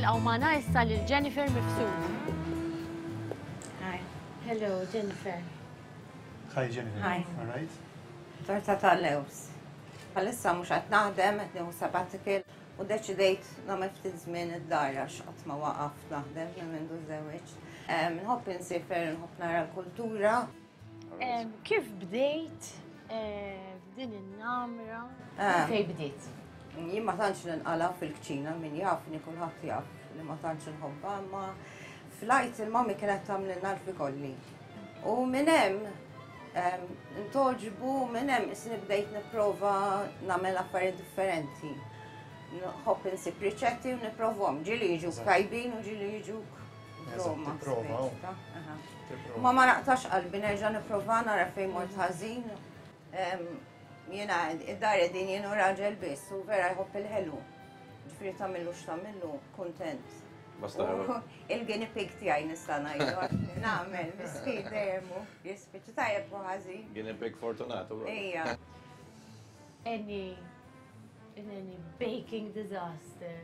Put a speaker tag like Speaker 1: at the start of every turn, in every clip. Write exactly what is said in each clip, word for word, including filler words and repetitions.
Speaker 1: Nilqgħu magħna issa lil Jennifer Mifsud.
Speaker 2: Hi.
Speaker 1: Hello, Jennifer.
Speaker 3: Hi, Jennifer.
Speaker 2: Hi.
Speaker 3: All right.
Speaker 2: Torta tal-lews. Bħalissa mhux qed naħdem, qed nieħu sabbatical u deċidejt nagħmel ftit żmien id-dar għax qatt ma waqaft naħdem minn mindu żewġ. Nħobb insiefer, nħobb nara l-kultura.
Speaker 1: Em, Kif bdejt eh, f'din in-namra?
Speaker 2: Ah.
Speaker 1: Fej bdejt?
Speaker 2: Jien ma tantx ninqala fil-kċina, min jafni kulħadd jaf li ma tantx nħobbha, imma fl-Għid il-mami kienet tagħmlilna l-fikolli. U minn hemm em, ntogħġbu minn hemm isni bdejt nipprova nagħmel affarijiet differenti. Nħobb insib riċetti u nipprovhom. Ġieli jiġu tajbin u ġieli jiġu
Speaker 3: Eżatt,
Speaker 2: Roma.
Speaker 3: tipprova,
Speaker 2: speċi ta' aha.
Speaker 3: Tipprova.
Speaker 2: Ma ma naqtax qalbi nerġa' nipprova nara fejn mort ħażin. Em, Jiena id-dar qegħdin jien u raġel biss u vera jħobb il-ħelu. Ġifieri tagħmillu x'tagħmillu, kuntent.
Speaker 4: Basta
Speaker 2: U Il-guinea pig tiegħi nista' ngħidu għax li nagħmel miskin dejjem hu jispiċċa tajjeb u ħażin.
Speaker 4: Guinea pig fortunato. bro.
Speaker 2: Ejja.
Speaker 1: Any, any baking disaster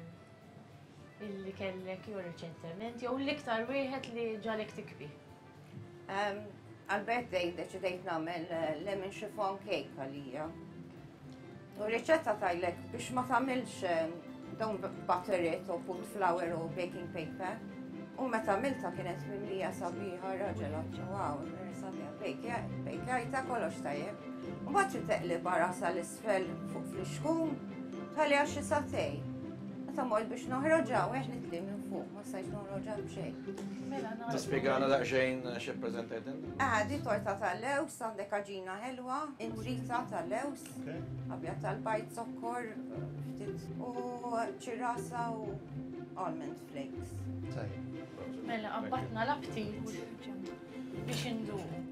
Speaker 1: illi kellek jew reċentement, jew l-iktar wieħed li ġagħlek tibki.
Speaker 2: Em, Għal-birthday deċidejt nagħmel eh, lemon chiffon cake għalija. U riċetta tgħidlek biex ma tagħmilx eh, don't butter it u put flour u baking paper. U meta għamilta kienet mimlija sabiħa raġel għattu, wow, vera sabiħa, bejkjajta kollox tajjeb. U mbagħad trid teqlibha rasha 'l isfel fuq flixkun, tħalliha xi sagħtejn. Meta mort biex noħroġha, weħlitli minn fuq, ma stajtx noħroġha b'xejn.
Speaker 1: Mela
Speaker 4: Tispjegana daqsxejn xi preżentajt inti?
Speaker 2: Ah, di torta tal-lews, għandek għaġina ħelwa, intrita tal-lews,
Speaker 3: Okay.
Speaker 2: abjad tal-bajd, zokkor, ftit u ċirasa u almond flakes.
Speaker 3: Tajjeb.
Speaker 1: Mela qabbatna l-aptit biex induqu.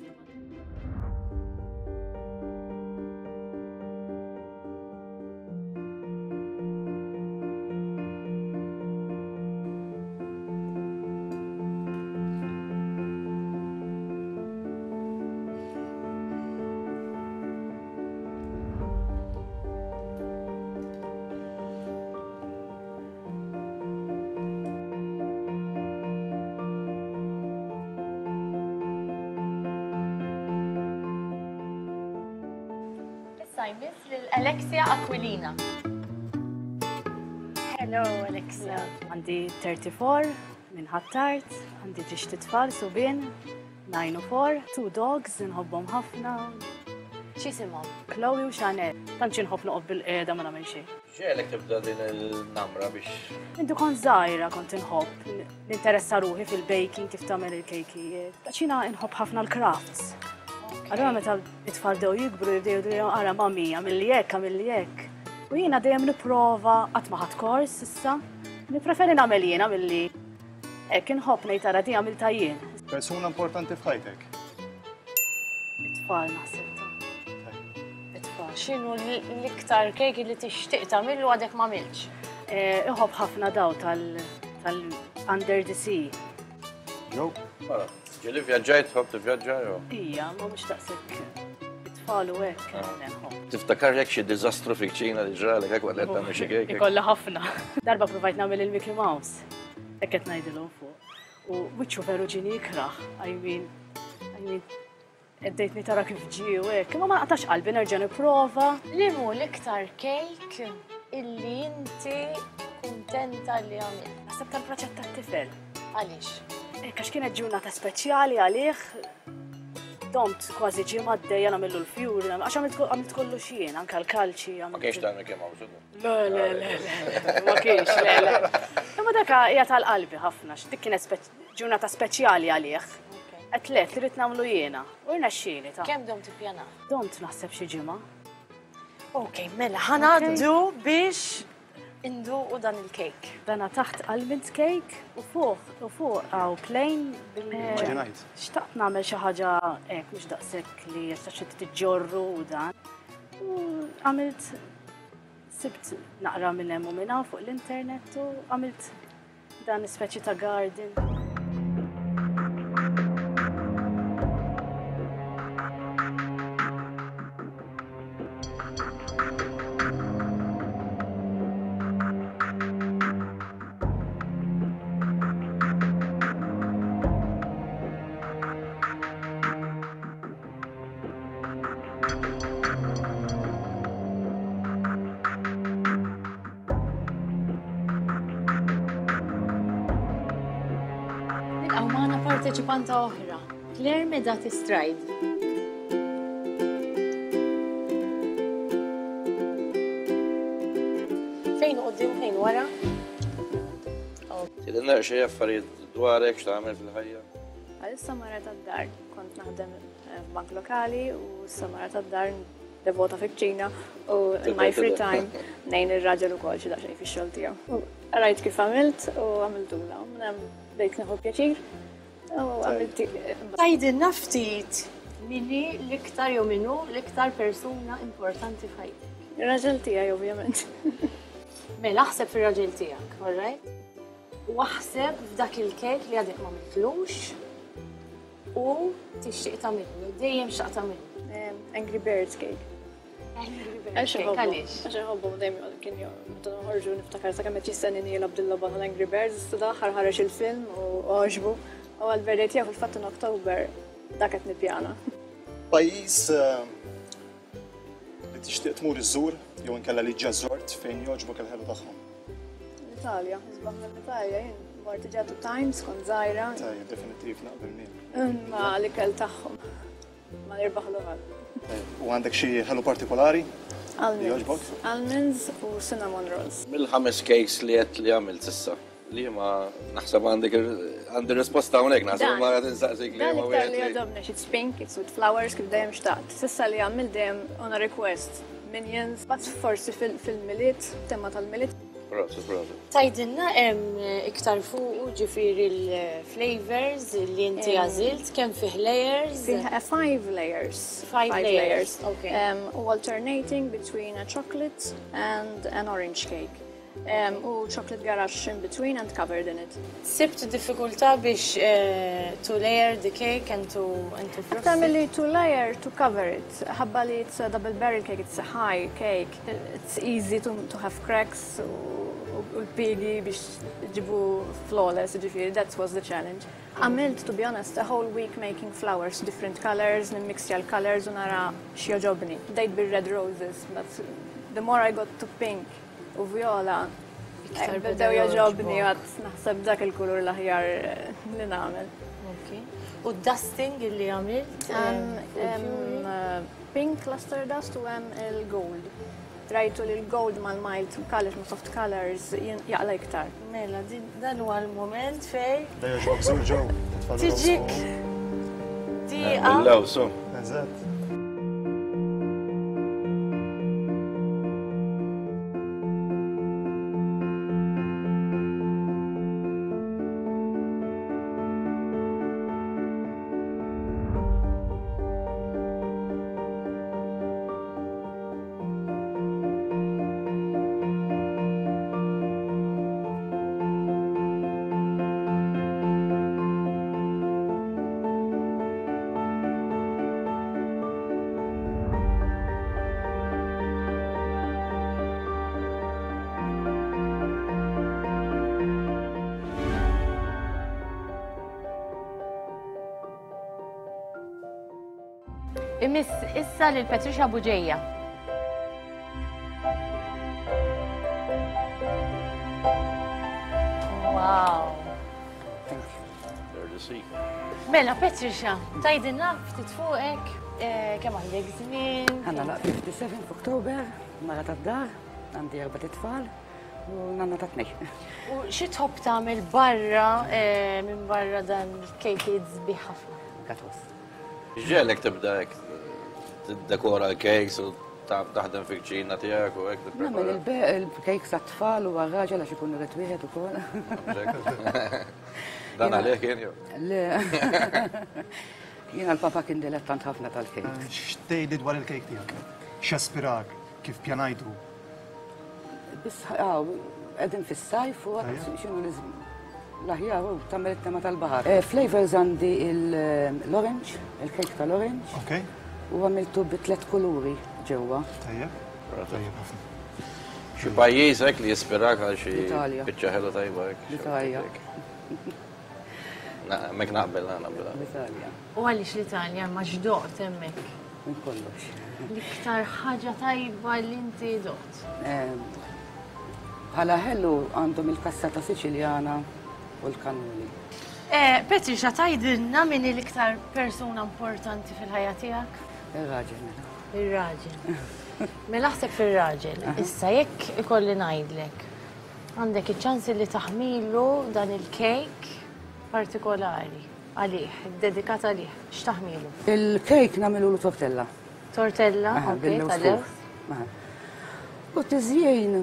Speaker 1: Issa jmiss lil Alexia Aquilina. Hello, Alexia.
Speaker 5: Għandi tlieta u tletin minn Ħ'Attard, għandi żewġt itfal subien, nine u four, two dogs, nħobbhom ħafna,
Speaker 1: X'isimhom?
Speaker 5: Chloe u Chanel. Tantx inħobb noqgħod bil-qiegħda ma nagħmel xejn.
Speaker 4: X'ġagħlek tibda din il-namra biex
Speaker 5: Mindu kont żgħira kont inħobb ninteressa ruħi fil-baking, kif tagħmel il-kejkijiet. Għax jiena inħobb ħafna l-crafts. Allura meta it-tfal bdew jikbru jibdew jgħidu ara mami, għamilli hekk, għamilli hekk. U jiena dejjem nipprova, qatt ma ħadt kors issa. Nippreferi nagħmel jiena milli hekk inħobb ngħid ara di għamilta jien.
Speaker 3: Persuna importanti f'ħajtek.
Speaker 5: It-tfal naħseb ta'
Speaker 3: Tajjeb.
Speaker 5: it-tfal.
Speaker 1: X'inhu l-iktar kejk li tixtieq tagħmillu għadek ma għamiltx?
Speaker 5: Eh, Iħobb ħafna daw tal tal Under the Sea.
Speaker 3: Joe?
Speaker 4: Mela, ġieli vjaġġajt, tħobb tivvjaġġa jew?
Speaker 5: Ija, ma mhux daqshekk it-tfal u hekk nħobb.
Speaker 4: Tiftakar jekk xi diżastru fil-kċina li ġralek hekk waqt li qed tagħmel xi kejk?
Speaker 5: Ikolla ħafna. Darba provajt nagħmel il-Mickey Mouse. Hekk qed ngħidilhom fuq. U wiċċu veru ġini ikrah. I mean, I mean, għeddejtni tara kif ġie u hekk. Imma ma naqtax qalbi nerġa' nipprova.
Speaker 1: Li hu l-iktar kejk illi inti kuntenta li għamilt?
Speaker 5: Naħseb tal-proċett tat-tifel.
Speaker 1: Għaliex?
Speaker 5: Hekk għax kienet ġurnata speċjali għalih. Domt kważi ġimgħa għaddejja nagħmillu l-fjuri, għax għamilt għamilt kollox jien, anke l-kalċi.
Speaker 4: Ma
Speaker 5: għamilt-
Speaker 4: kienx ta' Mickey Mouse.
Speaker 5: Le, le, le, le, ma kienx, le, le. Imma dak hija tal-qalbi ħafna, dik kienet speċ- ġurnata speċjali għalih. Għedt li rrid nagħmlu jiena, u rnexxieli ta'
Speaker 1: Kemm domt tippjana?
Speaker 5: Domt naħseb xi ġimgħa.
Speaker 1: Ok, mela, ħa ngħaddu biex induqu dan il-kejk.
Speaker 5: Dana taħt almond cake u fuq u fuq hawn plain bil
Speaker 3: Immaġinajt.
Speaker 5: Xtaqt nagħmel xi ħaġa hekk mhux daqshekk li għax tiġġorru u dan. U għamilt sibt naqra minn hemm u minn hawn fuq l-internet u għamilt dan speċi ta' garden.
Speaker 1: Parteċipanta oħra, Claire Medati Stride. Fejn quddiem, fejn wara?
Speaker 4: Tidinna xi affarijiet dwarek x'tagħmel fil-ħajja?
Speaker 6: Għalissa mara tad-dar, kont naħdem f'bank lokali u issa mara tad-dar devota fil-kċina u in my free time ngħin ir-raġel ukoll xi daqsxejn fix-xogħol tiegħu. Rajt kif għamilt u għamiltula. Bdejt nieħu pjaċir u għamilt.
Speaker 1: Tgħidilna ftit min hi l-iktar jew min hu l-iktar persuna importanti f'ħajtek.
Speaker 6: Ir-raġel tiegħi ovvjament.
Speaker 1: Mela aħseb fir-raġel tiegħek, all right? U aħseb f'dak il-kejk li għadek ma għamiltlux u tixtieq tagħmillu, dejjem xtaqt tagħmillu.
Speaker 6: Angry Birds cake.
Speaker 1: Angry Birds cake, għaliex?
Speaker 6: Għax inħobbu dejjem kien meta noħorġu niftakar sakemm qed jistennini jilgħab dil-logħba tal-Angry Birds, dal-aħħar ħareġ il-film u għoġbu. U għall-birthday tiegħu fil-fatt in October dak qed nippjana.
Speaker 3: Pajjiż li tixtieq tmur iżżur jew inkella li ġa żort fejn jogħġbok il-ħelu tagħhom.
Speaker 6: L-Italja, isbaħ mill-Italja jien mort diġà two times kont żgħira.
Speaker 3: Tajjeb, definittiv naqbel miegħek.
Speaker 6: Ma l-ikel tagħhom ma nirbaħlu ħadd.
Speaker 3: U għandek xi ħelu partikolari?
Speaker 6: Almonds. Almonds u cinnamon rolls.
Speaker 4: Mill-ħames cakes li qed li għamilt s'issa, li ma naħseb għandek għandi risposta hawnhekk naħseb ma qed insaqsik li
Speaker 6: Dan iktar li jogħġobni, it's pink, it's with flowers kif dejjem xtaqt. S'issa li għamilt dejjem on a request. Minions, but forsi fil-Milied, tema tal-Milied.
Speaker 4: Prosit, prosit.
Speaker 1: Tgħidilna hemm iktar fuq ġifieri l-flavors li inti għażilt, kemm fih layers?
Speaker 6: Fih five layers.
Speaker 1: Five layers, okay.
Speaker 6: U alternating between a chocolate and an orange cake. Um, u chocolate ganache in between and covered in it.
Speaker 1: Sibt diffikultà biex to layer the cake and to and to frost it?
Speaker 6: Tagħmel to layer to cover it. Ħabba li it's a double barrel cake, it's a high cake. It's easy to, to have cracks u l-pigi biex ġibu flawless, ġifieri, that was the challenge. Għamilt, to be honest, a whole week making flowers, different colors, nimmixja l-colors u nara x'jogħġobni. Bdejt bil-red roses, but the more I got to pink u viola, bdew jogħġobni għad naħseb dak il-kulur l-aħjar li nagħmel.
Speaker 1: U dusting li għamilt?
Speaker 6: Pink luster dust u hemm il-gold. Rajtu li l-gold mal-mild colors, ma soft colors, jaqla iktar.
Speaker 1: Mela, dan huwa l-moment fej.
Speaker 3: Da jogħġbok żur ġew.
Speaker 1: Tiġik. Diqa.
Speaker 4: Bil-lawsu.
Speaker 3: Eżatt.
Speaker 1: Imiss issa lil Patricia Bugeja. Wow.
Speaker 4: Thank you. There to see.
Speaker 1: Mela, Patricia, tgħidilna ftit fuqek, kemm għandek żmien?
Speaker 7: Għandna laq fifty-seven f'Oktober, mara tad-dar, għandi erba' tfal u nanna ta' tnej.
Speaker 1: U xi tħobb tagħmel barra minn barra dan il-kejkiet sbieħ ħafna?
Speaker 7: Gatos.
Speaker 4: Ġelek tibda hekk tiddekora l-cakes u taħdem fil-kċina tiegħek u hekk
Speaker 7: tipprepara. Nagħmel il-cakes għat-tfal u għar-raġel għax ikun irid wieħed ukoll.
Speaker 4: Dan għalih kien jew?
Speaker 7: Le. Jiena l-papa kien dilettant ħafna tal-cakes.
Speaker 3: X'tgħidli dwar il-cake tiegħek? X'aspirak? Kif pjanajtu?
Speaker 7: Biss qegħdin fis-sajf u x'inhu l-aħjar u tagħmel it-tema tal-baħar. Flavors għandi l-orange, il-cake tal-orange.
Speaker 3: Ok.
Speaker 7: U għamiltu bi tliet kuluri ġewwa.
Speaker 3: Tajjeb. Tajjeb ħafna.
Speaker 4: Xi pajjiż hekk li jispirak għal xi biċċa ħelu tajba hekk.
Speaker 7: L-Italja.
Speaker 4: Hemmhekk naqbel, naqbel.
Speaker 7: L-Italja.
Speaker 1: U għaliex l-Italja ma xdoqt hemmhekk?
Speaker 7: Minn kollox.
Speaker 1: L-iktar ħaġa tajba li inti doqt?
Speaker 7: Bħala ħelu għandhom il-kassata Siċiljana u l-kannoli.
Speaker 1: Patricia, tgħidilna min hi l-iktar persuna importanti fil-ħajja tiegħek?
Speaker 7: Ir-raġel mela.
Speaker 1: Ir-raġel. Mela aħseb fir-raġel. Issa jekk ikolli ngħidlek, għandek iċ-ċans li taħmilu dan il-kejk partikolari għalih, dedikat għalih, x'taħmilu?
Speaker 7: Il-kejk nagħmilu tortella.
Speaker 1: Tortella, ok, tal-lewż.
Speaker 7: U tiżjien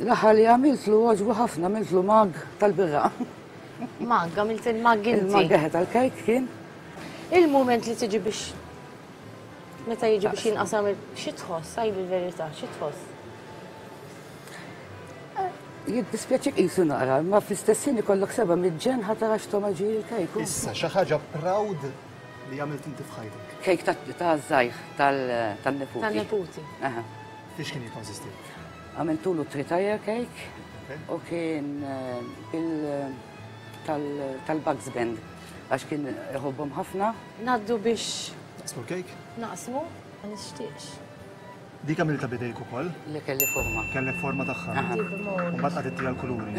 Speaker 7: l-aħħar li għamiltlu għoġbu ħafna, għamiltlu mag tal-birra.
Speaker 1: Mag, għamilt il-mag inti.
Speaker 7: Il-mag eħe tal-kejk kien.
Speaker 1: Il-moment li tiġi biex, meta jiġi biex jinqasam, xi tħoss, għid il-verità, xi tħoss?
Speaker 7: Jiddispjaċik qisu naqra, ma fl-istess ħin ikollok seba' miġġen ħa tara x'togħma ġie l-kejk.
Speaker 3: Issa xi ħaġa proud li għamilt inti f'ħajtek.
Speaker 7: Kejk ta' żgħir tan-neputi.
Speaker 1: Tan-neputi.
Speaker 3: Fiex kien jikkonsisti?
Speaker 7: Għamiltulu three-tier cake u kien bil tal-Bugs Band, għax kien iħobbhom ħafna.
Speaker 1: Ngħaddu biex.
Speaker 3: Naqsmu l-kejk?
Speaker 1: Naqsmu, ma nixtieqx.
Speaker 3: Dik għamilta bidejk ukoll?
Speaker 7: Li kelli forma.
Speaker 3: Kellek forma tagħha. U mbagħad qagħdet l-kuluri.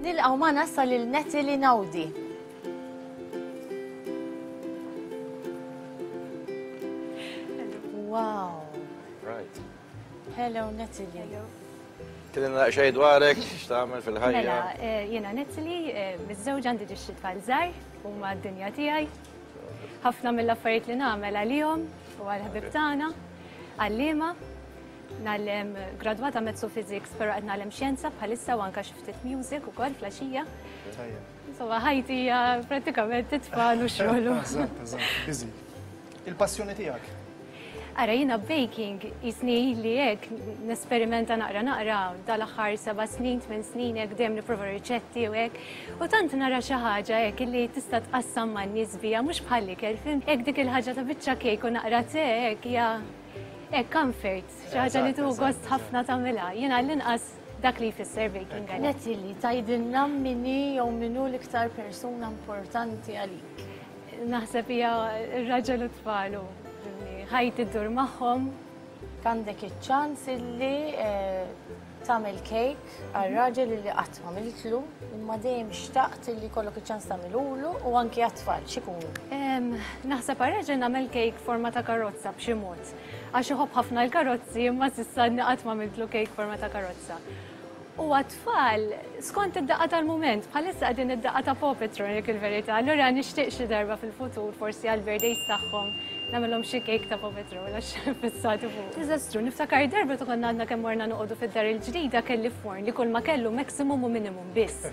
Speaker 1: Nilqgħu magħna issa lil Natalie Naudi. Wow.
Speaker 4: Right.
Speaker 1: Hello Natalie.
Speaker 6: Hello.
Speaker 4: Tgħidilna xejn dwarek, x'tagħmel fil-ħajja?
Speaker 6: Mela, jiena Natalie, miżżewġa għandi ġiex tfal żgħar huma d-dinja tiegħi. Ħafna mill-affarijiet li nagħmel għalihom u għall-ħbieb tagħna, għalliema. Nagħllem gradwata mezzo physics, però qed nagħllem xjenza bħalissa u anke xi ftit music ukoll flaxija. Insomma, ħajti hija prattikament it-tfal u xogħol.
Speaker 3: Eżatt, eżatt, busy. Il-passjoni tiegħek?
Speaker 6: Ara, jiena baking jisni li hekk nesperimenta naqra naqra dal-aħħar seba' snin, tmien snin hekk dejjem nipprova riċetti u hekk. U tant nara xi ħaġa hekk illi tista' tqassam man-nies biha mhux bħall-ikel, fim? Hekk dik il-ħaġa ta' biċċa kejk u naqra te hekk hija hekk comfort, xi ħaġa li tieħu gost ħafna tagħmilha. Jiena l-inqas dak li jfisser baking għalija.
Speaker 1: Natalie, tgħidilna min hi jew min hu l-iktar persuna importanti għalik?
Speaker 6: Naħseb hija r-raġel u tfalu. Ħajti ddur magħhom.
Speaker 1: Għandek iċ-ċans illi tagħmel kejk għar-raġel illi qatt m'għamiltlu, imma dejjem xtaqt illi jkollok iċ-ċans tagħmilulu u anki għat-tfal, x'ikunu?
Speaker 6: Naħseb għar-raġel nagħmel kejk forma ta' karozza b'xi mod. Għax iħobb ħafna l-karozzi, imma s'issa qatt m'għamiltlu kejk forma ta' karozza. U għat-tfal, skont id-daqqa tal-mument, bħalissa qegħdin id-daqqa ta' Paw Patrol jekk il-verità, allura nixtieq xi darba fil-futur, forsi għall-birthdays tagħhom, nagħmilhom xi kejk ta' Paw Patrol għax fissati fuq. Diżastru, niftakar darba ta' konna għadna kemm morna noqogħdu fid-dar il-ġdida kelli forn li kull ma kellu maximum u minimum biss.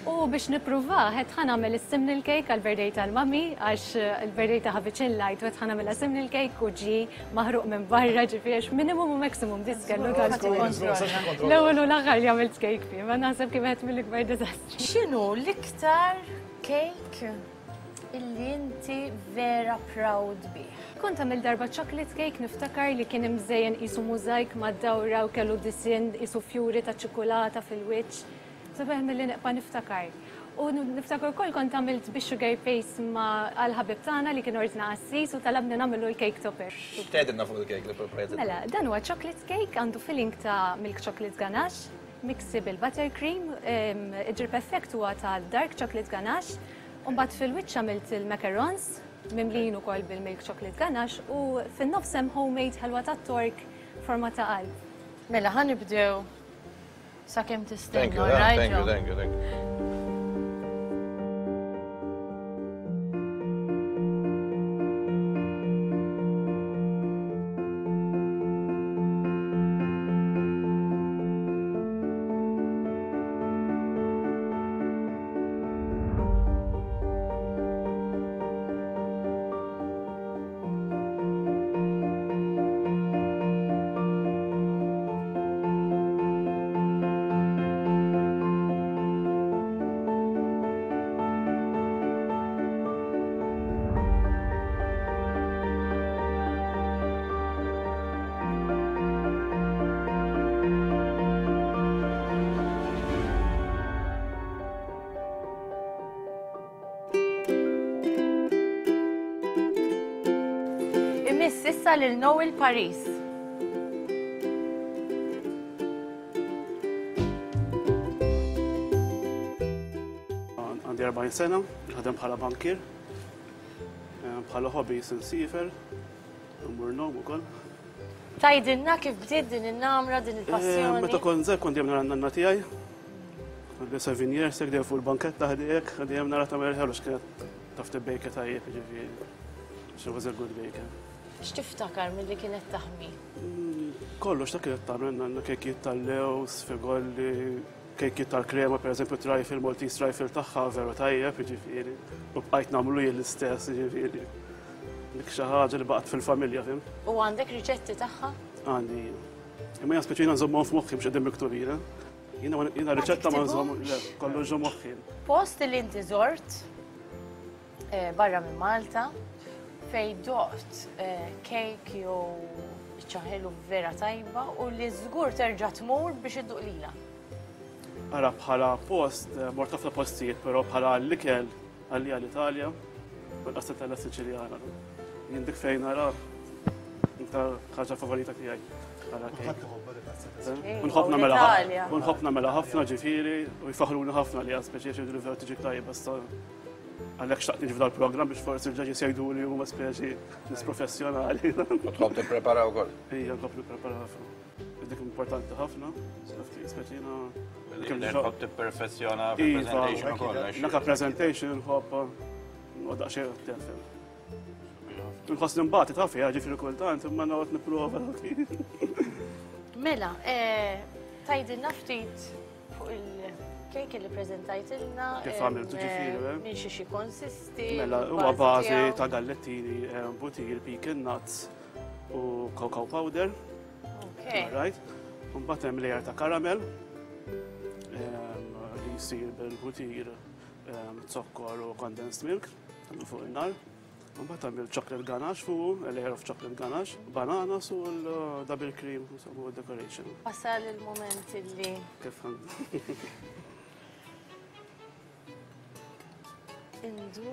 Speaker 6: U biex nippruvah, qed ħa nagħmel is-simnel cake għall-birthday tal-mami, għax il-birthday ta' viċin lajt, u qed ħa nagħmilha simnel cake u ġie maħruq minn barra, ġifieri għax minimum u maximum biss kellu tal-kontroll. L-ewwel u l-aħħar li għamilt cake fih, ma naħseb kif qed mill-ikbar diżastri.
Speaker 1: X'inhu l-iktar cake illi inti vera proud bih?
Speaker 6: Kont għamil darba chocolate cake, niftakar li kien imżejjen qisu mużajk mad-dawra u kellu disinn qisu fjuri ta' ċikolata fil-wiċċ. Sabiħ mill-li neqpa niftakar. U niftakar ukoll kont għamilt bi sugar paste ma' għal-ħabib tagħna li kien ordna qassis u talabni nagħmlu l-cake topper.
Speaker 4: X'tgħidilna fuq il-cake li preparajt?
Speaker 6: Mela, dan huwa chocolate cake għandu filling ta' milk chocolate ganache, miksi bil-buttercream, id-drip effect huwa ta' dark chocolate ganache, u mbagħad fil-wiċċ għamilt il-macarons mimlijin ukoll bil-milk chocolate ganache u fin-nofs hemm homemade ħelwa tat-tork forma ta' qalb.
Speaker 1: Mela, ħa nibdew sakemm tistenna.
Speaker 4: Thank you, thank you, thank you, thank you.
Speaker 1: Imiss issa lil Noel Paris.
Speaker 3: Għandi erbgħin sena, naħdem bħala bankier, bħala hobby insifer, mmur ngħum ukoll.
Speaker 1: Tgħidilna kif bdiet din in-namra, din il-passjoni?
Speaker 3: Meta kont żgħir kont dejjem nara n-nanna tiegħi. Għandi seven years, hekk dejjem fuq il-banketta ħdejk, dejjem nara tagħmel ħelu x'kienet taf tibbejka tajjeb, jiġifieri. She was a good baker.
Speaker 1: X'tiftakar milli kienet taħmi?
Speaker 3: Kollox ta' kienet tagħmel nanna kejkiet tal-lews, figolli, kejkiet tal-krema, per eżempju, trifle, Maltese trifle tagħha veru tajjeb, jiġifieri. U bqajt nagħmlu jien l-istess, jiġifieri. Dik xi ħaġa li baqgħet fil-familja, fim.
Speaker 1: U għandek riċetti tagħha?
Speaker 3: Għandi. Imma jien speċi jiena nżommhom f'moħħi biex qegħdin miktubin, eh? Jiena jiena riċetta ma nżomm, le, kollu ġo moħħi.
Speaker 1: Post li inti żort, eh, barra minn Malta, fej doqt, eh, kejk jew ċaħelu vera tajba u li żgur terġa' tmur biex idduq lilha.
Speaker 3: Ara bħala post, eh, mort ħafna postijiet, però bħala l-ikel għalija l-Italja, u l-qassatella Siċiljana. Jien dik fejn nara iktar ħaġa favorita tiegħi.
Speaker 8: Kulħadd iħobbha dik il-qassatella.
Speaker 1: Ej,
Speaker 3: U nħobb nagħmilha ħa-
Speaker 1: l-Italja.
Speaker 3: u nħobb nagħmilha ħafna ġifieri u jfaħruni ħafna li għal speċi xi vera tiġi tajba sta għalhekk xtaqt niġi f'dal-programm biex forsi l-ġaġi jgħidu li huma speċi nies professjonali.
Speaker 4: U tħobb tipprepara wkoll.
Speaker 3: Ejja, nħobb nipprepara ħafna. Dik importanti ħafna, speċi jiena kemm
Speaker 4: Li
Speaker 3: ġo-
Speaker 4: tħobb tipperfezzjona
Speaker 3: Iva,
Speaker 4: fil-presentation ukoll. għax-
Speaker 3: Naka presentation nħobb noqgħod daqsxejn attent. Nħoss nimbati taf fiha ġifieri kultant, imma noqgħod nipprova.
Speaker 1: Mela, eh, tgħidilna ftit fuq il-kejk li preżentajtilna.
Speaker 3: Kif
Speaker 1: em,
Speaker 3: għamiltu ġifieri, eh?
Speaker 1: Minn xi xi konsisti.
Speaker 3: Mela, huwa
Speaker 1: l-bażi
Speaker 3: bażi
Speaker 1: tiegħu.
Speaker 3: ta' gallettini, eh, butir, pecan nuts u cocoa powder.
Speaker 1: Ok.
Speaker 3: Right. Mbagħad hemm layer ta' caramel em, li jsir bil-butir, em, zokkor u condensed milk tagħmlu fuq in-nar. Mbagħad hemm il-chocolate ganache fuq, a layer of chocolate ganache, bananas u l-double cream insomma, u decoration.
Speaker 1: Wasal il-moment illi
Speaker 3: Kif għand-
Speaker 1: indu.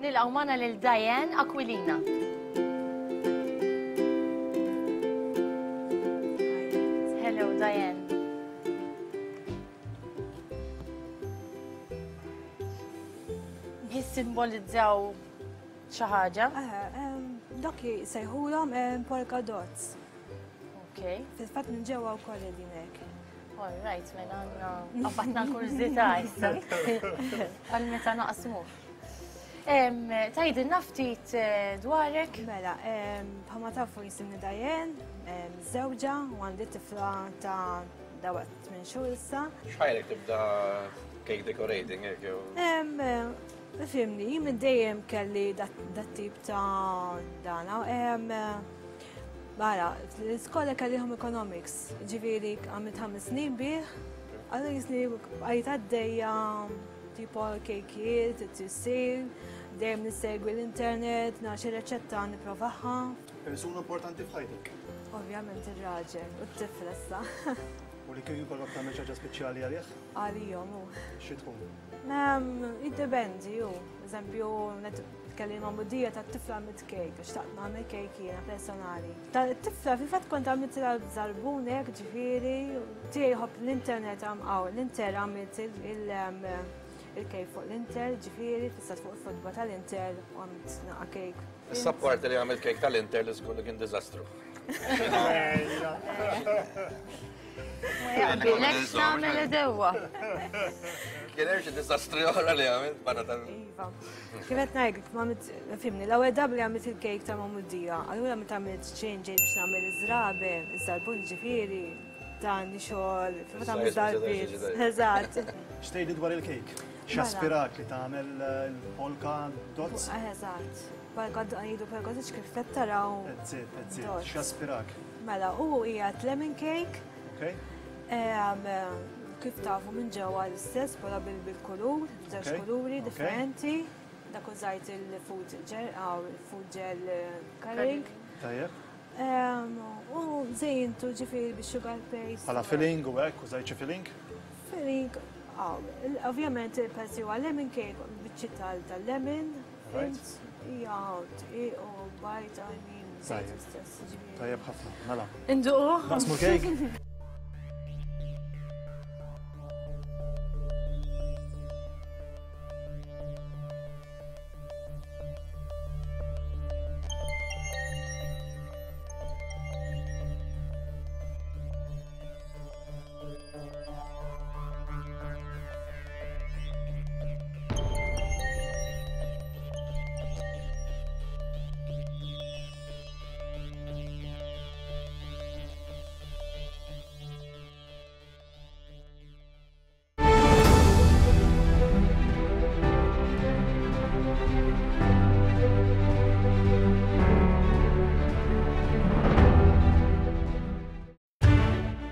Speaker 1: Nilqgħu magħna lil Diane Aquilina. Hello Diane. Jissimbolizzaw xi ħaġa?
Speaker 9: Dak jsejħulhom polka dots.
Speaker 1: Ok.
Speaker 9: Fil-fatt minn ġewwa wkoll qegħdin hekk.
Speaker 1: All right, mela għandna qabadna l-kurżità issa. Għal meta naqsmu. Tgħidilna ftit, eh, dwarek?
Speaker 9: Mela, em, bħalma tafu jisimni Diane, em, żewġa u għandi tifla ta' dawat tmien xhur issa.
Speaker 4: X'ħajrek tibda cake decorating hekk jew?
Speaker 9: Em, eh, Fimni, minn dejjem kelli dat dat tip ta' dana. Em, Bara, l-iskola kelli home economics, ġifieri għamilt ħames snin bih, għallu jisni għajt għaddejja tipo kejkiet, t-tissil, dejjem nissegwi l-internet, naxi reċetta nipprovaha.
Speaker 8: Persuna importanti f'ħajtek.
Speaker 9: Ovvjament ir-raġel u t-tifel issa.
Speaker 8: U li kieku jkollok tagħmel xi ħaġa speċjali għalih?
Speaker 9: Għalihom hu.
Speaker 8: Xi tkun?
Speaker 9: Em, Jiddependi ju. Eżempju, kelli magħmudija ta' tifla għamilt kejk, għax xtaqt nagħmel kejk jiena personali. Ta' tifla fil-fatt kont għamilt żarbun hekk, ġifieri, tiegħi jħobb l-internet għam hawn, l-inter għamilt il-kejk fuq l-inter, ġifieri, fissat fuq il-fotba tal-inter u għamilt naqa' kejk.
Speaker 4: Issa parti li għamilt kejk tal-inter li żgur li kien diżastru.
Speaker 2: Ma jaqbilekx tagħmel edewwa.
Speaker 4: Kien hemm xi diżastri oħra li għamilt barra tal-
Speaker 9: Iva. Kif qed ngħidlek, ma għamilt, fimni, l-ewwel darba li għamilt il-kejk ta' magħmudija, allura meta għamilt change biex nagħmel iż-żrabe, iż-żarbun ġifieri, dan xogħol, fil-fatt għamilt darbiet. Eżatt.
Speaker 8: X'tgħidli dwar il-kejk? X'aspirak li tagħmel il-polka dots?
Speaker 9: Eżatt. Għidu pergotiċ kif qed taraw.
Speaker 8: That's it, that's it. X'aspirak?
Speaker 9: Mela, u qiegħed lemon cake.
Speaker 8: Okay.
Speaker 9: Kif tafu minn ġewwa l-istess bħala bil-kulur, żewġ kuluri differenti. Dak użajt il-food gel, food gel coloring.
Speaker 8: Tajjeb.
Speaker 9: U żejjintu ġifieri bix-sugar paste.
Speaker 8: Bħala filling u hekk, użajt xi filling?
Speaker 9: Filling, ovvjament il-pezzi huwa lemon cake, biċċi tal-lemon, hija u bajt, I mean,
Speaker 8: istess. Tajjeb ħafna, mela.
Speaker 1: Induqu.
Speaker 8: Naqsmu cake.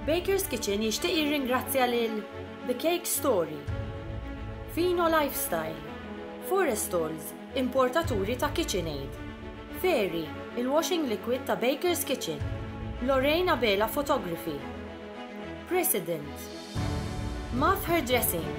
Speaker 1: Baker's Kitchen jixtieq jirringrazzja lil The Cake Story, Fino Lifestyle, Forestalls, importaturi ta' KitchenAid, Fairy, il-washing liquid ta' Baker's Kitchen, Lorraine Abela Photography, President, Maf Hairdressing,